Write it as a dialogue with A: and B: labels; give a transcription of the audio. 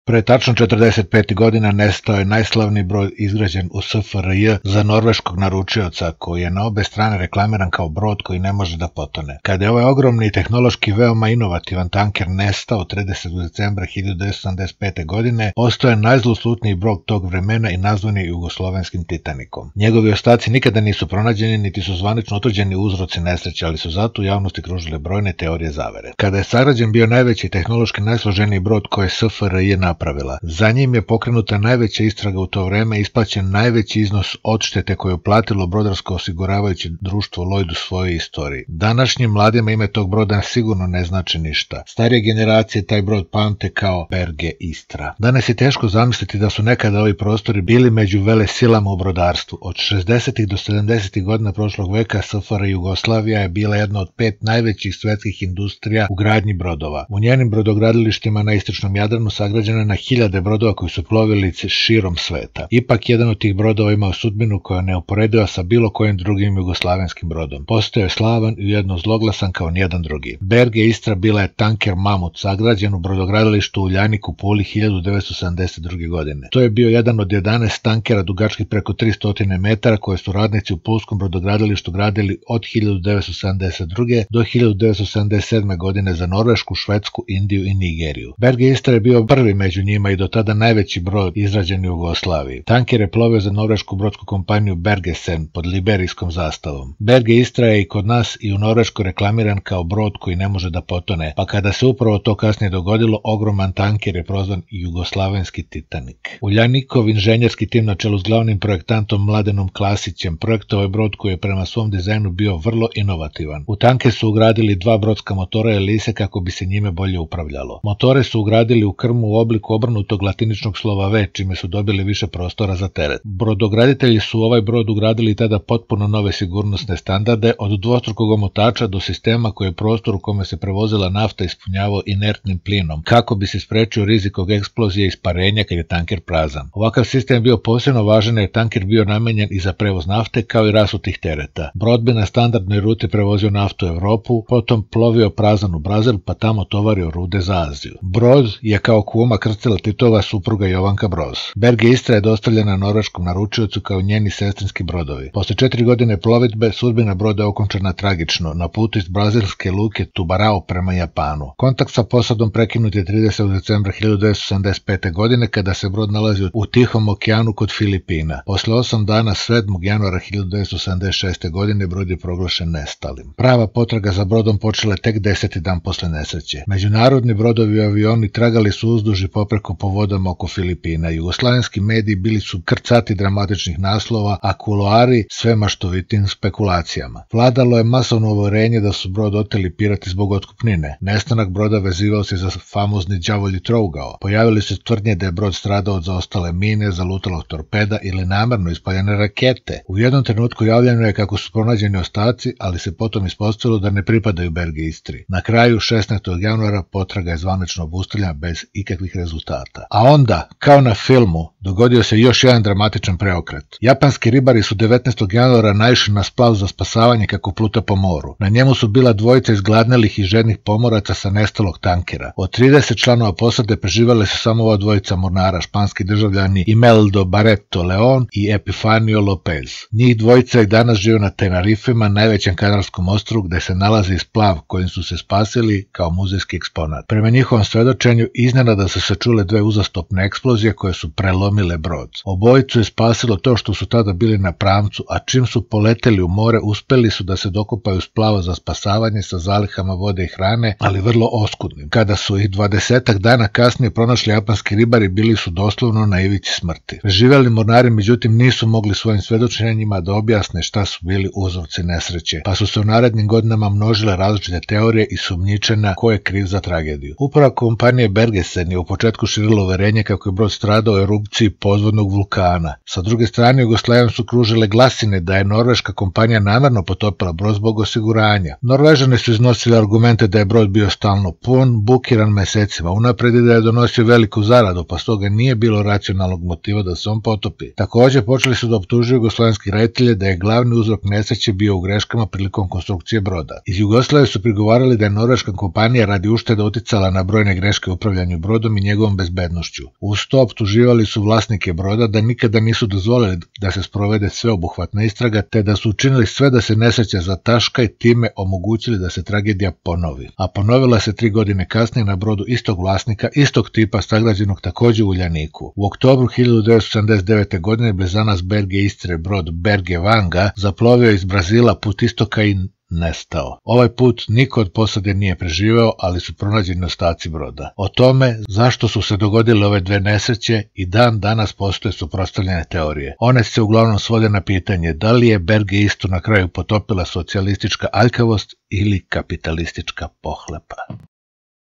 A: Pre tačno 45 godina nestao je najslavniji brod izgrađen u SFRJ za norveškog naručioca, koji je na obe strane reklamiran kao brod koji ne može da potone. Kada je ovaj ogromni i tehnološki veoma inovativan tanker nestao 30. decembra 1975. godine, postao je najzloslutniji brod tog vremena i nazvan je jugoslovenskim Titanikom. Njegovi ostaci nikada nisu pronađeni, niti su zvanično utvrđeni uzroci nesreće, ali su zato u javnosti kružile brojne teorije zavere. Kada je sagrađen bio najveći tehnološki najsloženiji brod koje je SFRJ napravila. Za njim je pokrenuta najveća istraga u to vreme i isplaćen najveći iznos odštete koju je platilo brodarsko osiguravajuće društvo Lloyd u svojoj istoriji. Današnjim mladima ime tog broda sigurno ne znači ništa. Starije generacije taj brod pamte kao Berge Istra. Danas je teško zamisliti da su nekada ovi prostori bili među velesilama u brodarstvu. Od 60. do 70. godina prošlog veka SFRJ Jugoslavija je bila jedna od 5 najvećih svetskih industrija u gradnji brodova. U njenim brodogradilištima na istočnom Jadranu sagrađeno je na hiljade brodova koji su plovili širom sveta. Ipak jedan od tih brodova imao sudbinu koja je neuporediva sa bilo kojim drugim jugoslavenskim brodom. Postao je slavan i ujedno zloglasan kao nijedan drugi. Berge Istra bila je tanker Mamut, sagrađen u brodogradilištu u Uljaniku Puli 1972. godine. To je bio jedan od 11 tankera dugačkih preko 300 metara koje su radnici u pulskom brodogradilištu gradili od 1972. do 1977. godine za Norvešku, Švedsku, Indiju i Nigeriju. Berge Istra je bio prvi među njima i do tada najveći brod izrađen u Jugoslaviji. Tanker je plovio za norvešku brodsku kompaniju Bergesen pod liberijskom zastavom. Berge Istra je i kod nas i u Norveškoj reklamiran kao brod koji ne može da potone, pa kada se upravo to kasnije dogodilo, ogroman tanker je prozvan jugoslavenski Titanik. Uljanikov inženjerski tim na čelu s glavnim projektantom Mladenom Klasićem projektovao je brod koji je prema svom dizajnu bio vrlo inovativan. U tanker su ugradili 2 brodska motora Elise kako bi se njime bolje upravljalo. Motore su ugradili u krmu u obliku obrnutog latiničnog slova V, čime su dobili više prostora za teret. Brodograditelji su u ovaj brod ugradili tada potpuno nove sigurnosne standarde, od dvostrukog omotača do sistema koji je prostor u kome se prevozila nafta ispunjavao inertnim plinom, kako bi se sprečio rizik od eksplozije i isparenja kad je tanker prazan. Ovakav sistem je bio posebno važan jer je tanker bio namenjen i za prevoz nafte kao i rasutih tereta. Brod bi na standardnoj ruti prevozio naftu u Evropu, potom plovio prazan u Brazil pa tamo tovario rude za Aziju. Brod je kao kuma krstila Titova supruga Jovanka Broz. Berge Istra je dostavljena norveškom naručiocu kao njeni sestrinski brodovi. Posle 4 godine plovidbe sudbina broda je okončana tragično na putu iz brazilske luke Tubarao prema Japanu. Kontakt sa posadom prekinut je 30. decembra 1975. godine kada se brod nalazio u Tihom okeanu kod Filipina. Posle 8 dana 7. januara 1976. godine brod je proglašen nestalim. Prava potraga za brodom počela tek 10. dan posle nesreće. Međunarodni brodovi i avioni tragali su uzduž i popreko po vodama oko Filipina. Jugoslavenski mediji bili su krcati dramatičnih naslova, a kuloari sve maštovitim spekulacijama. Vladalo je masovno uverenje da su brod oteli pirati zbog otkupnine. Nestanak broda vezivao se za famozni đavolji trougao. Pojavili su tvrdnje da je brod stradao od zaostale mine, zalutalog torpeda ili namerno ispaljene rakete. U jednom trenutku javljeno je kako su pronađeni ostaci, ali se potom ispostavilo da ne pripadaju Berge Istri. Na kraju 16. januara potraga je zvanično obustavljena bez ikakvih rezultata. A onda, kao na filmu, dogodio se još jedan dramatičan preokret. Japanski ribari su 19. januara naišli na splav za spasavanje kako pluta po moru. Na njemu su bila dvojica izgladnelih i žednih pomoraca sa nestalog tankera. Od 30 članova posade preživale su samo ova dvojica mornara, španski državljani Imeldo Barreto Leon i Epifanio Lopez. Njih dvojica i danas žive na Tenerifima, najvećem kanarskom ostrvu gde se nalazi splav kojim su se spasili kao muzejski eksponat. Prema njihovom svedočenju iznenada su se čule 2 uzastopne eksplozije koje su prelomile brod. Obojicu je spasilo to što su tada bili na pramcu, a čim su poleteli u more uspeli su da se dokopaju splava za spasavanje sa zalihama vode i hrane, ali vrlo oskudnim. Kada su ih 20 dana kasnije pronašli japanski ribari, bili su doslovno na ivici smrti. Preživeli mornari međutim nisu mogli svojim svedočenjima da objasne šta su bili uzroci nesreće, pa su se u narednim godinama množile različite teorije i sumnjičenja ko je kriv za tragediju. Uprava kompanije Bergesen je u početku širila uverenje kako je brod stradao u erupciji erupciji podvodnog vulkana. Sa druge strane, Jugoslavijom su kružile glasine da je norveška kompanija namerno potopila brod zbog osiguranja. Norvežani su iznosili argumente da je brod bio stalno pun, bukiran mesecima unapred i da je donosio veliku zaradu, pa stoga nije bilo racionalnog motiva da se on potopi. Također počeli su da optužuju jugoslovenski reditelje da je glavni uzrok nesreće bio u greškama prilikom konstrukcije broda. Iz Jugoslavije su prigovarali da je norveška kompanija radi ušteda uticala na brojne greške u upravljanju brodom i njegovom bezbednošću. Uz to optuživali su vlasnike broda da nikada nisu dozvolili da se sprovede sveobuhvatna istraga, te da su učinili sve da se nesreća zataška i time omogućili da se tragedija ponovi. A ponovila se 3 godine kasnije na brodu istog vlasnika, istog tipa, sagrađenog također u Uljaniku. U oktobru 1979. godine blizanas Berge Istre brod Berge Vanga zaplovio iz Brazila put istoka i nestao. Ovaj put niko od posade nije preživeo, ali su pronađeni ostaci broda. O tome zašto su se dogodile ove dve nesreće i dan danas postoje suprotstavljene teorije. One se uglavnom svode na pitanje da li je Berge Istru na kraju potopila socijalistička aljkavost ili kapitalistička pohlepa.